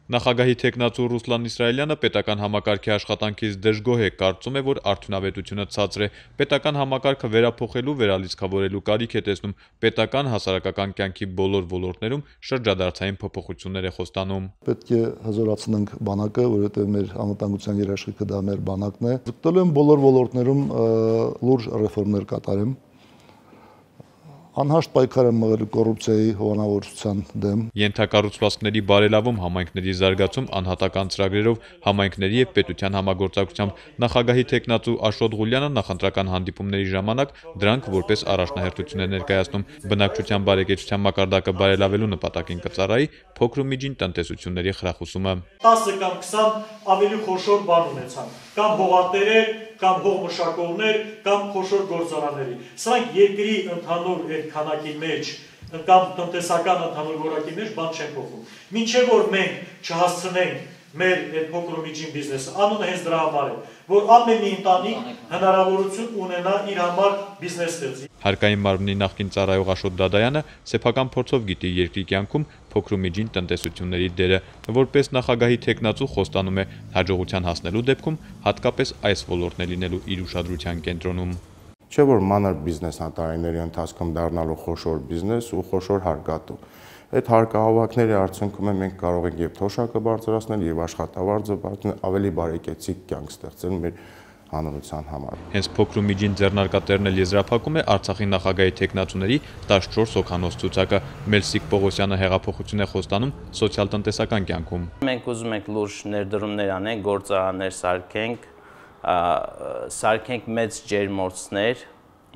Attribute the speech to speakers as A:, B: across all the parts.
A: Նախագահի թեկնածու Ռուսլան Իսրայելյանը պետական համակարգի աշխատանքից դժգոհ է, կարծում է, որ արդյունավետությունը ցածր է, պետական համակարգը վերափոխելու, վերալիցքավորելու կարիք է տեսնում, պետական հասարակական կյանքի բոլոր ոլորտներում շրջադարձային փոփոխություններ է խոստանում։
B: Պետք է հզորացնենք բանակը, որովհետև մեր անվտանգության երաշխիքը դա մեր բանակն է։ Ձգտելու եմ բոլոր ոլորտներում լուրջ ռեֆորմներ կատարեմ։ Անհաշտ պայքար եմ մղել կոռուպցիայի հովանավորության դեմ։
A: Ենթակառուցվածքների բարելավում, համայնքների զարգացում, անհատական ծրագրերով, համայնքների եւ պետության համագործակցությամբ նախագահի թեկնածու Աշոտ Ղուլյանը նախընտրական հանդիպումների ժամանակ դրանք որպես առաջնահերթություն է ներկայացնում։ Բնակչության բարեկեցության մակարդակը բարելավելու նպատակին կծառայի փոքր ու միջին տնտեսությունների խրախուսումը։
C: 10 կամ 20 ավելի խոշոր բան ունեցան, կամ հողատերեր, կամ հողմշակողներ, կամ խոշոր գործարանների։ Սրանք երկրի ընդհանուր այդ քանակի մեջ կամ տնտեսական ընդհանուր որակի մեջ բան չեն փոխում։ Մինչև որ մենք չհասցնենք մեր այդ փոքր ու միջին բիզնեսը, անունը հենց դրա համար է, որ ամեն մի ընտանիք հնարավորություն ունենա իր համար բիզնես ստեղծի։
A: Հարկային մարմնի նախկին ծառայող Աշոտ Դադայանը սեփական փորձով գիտի երկրի կյանքում փոքր ու միջին տնտեսությունների դերը, որպես նախագահի թեկնածու խոստանում է հաջողության հասնելու դեպքում հատկապես այս ոլորտն է լինելու իր ուշադրության կենտրոնում։
D: Չէ որ մանր բիզնեսն տարիների ընթացքում դառնալու խոշոր բիզնես ու խոշոր հարկատու։ Այդ հարկահավաքների արդյունքում մենք կարող ենք եւ թոշակը բարձրացնել եւ աշխատավարձը բարձրացնել, ավելի բարեկեցիկ կյանք ստեղծել մեր հանրության համար։
A: Հենց փոքր ու միջին ձեռնարկատերն էլ եզրափակում է Արցախի նախագահի թեկնածուների 14 հոգանոց ցուցակը։ Մելսիկ Պողոսյանը հեղափոխություն է խոստանում սոցիալ-տնտեսական կյանքում։
E: Մենք ուզում ենք լուրջ ներդրումներ անենք, գործարաններ սարքենք մեծ ջերմոցներ,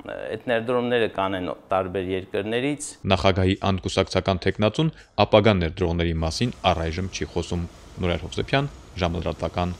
E: այդ ներդրումները կանեն տարբեր երկրներից։
A: Նախագահի անկուսակցական թեկնածուն ապագա ներդրողների մասին առայժմ չի խոսում։ Նուրեր Հովսեփյան, ժամլրատվական։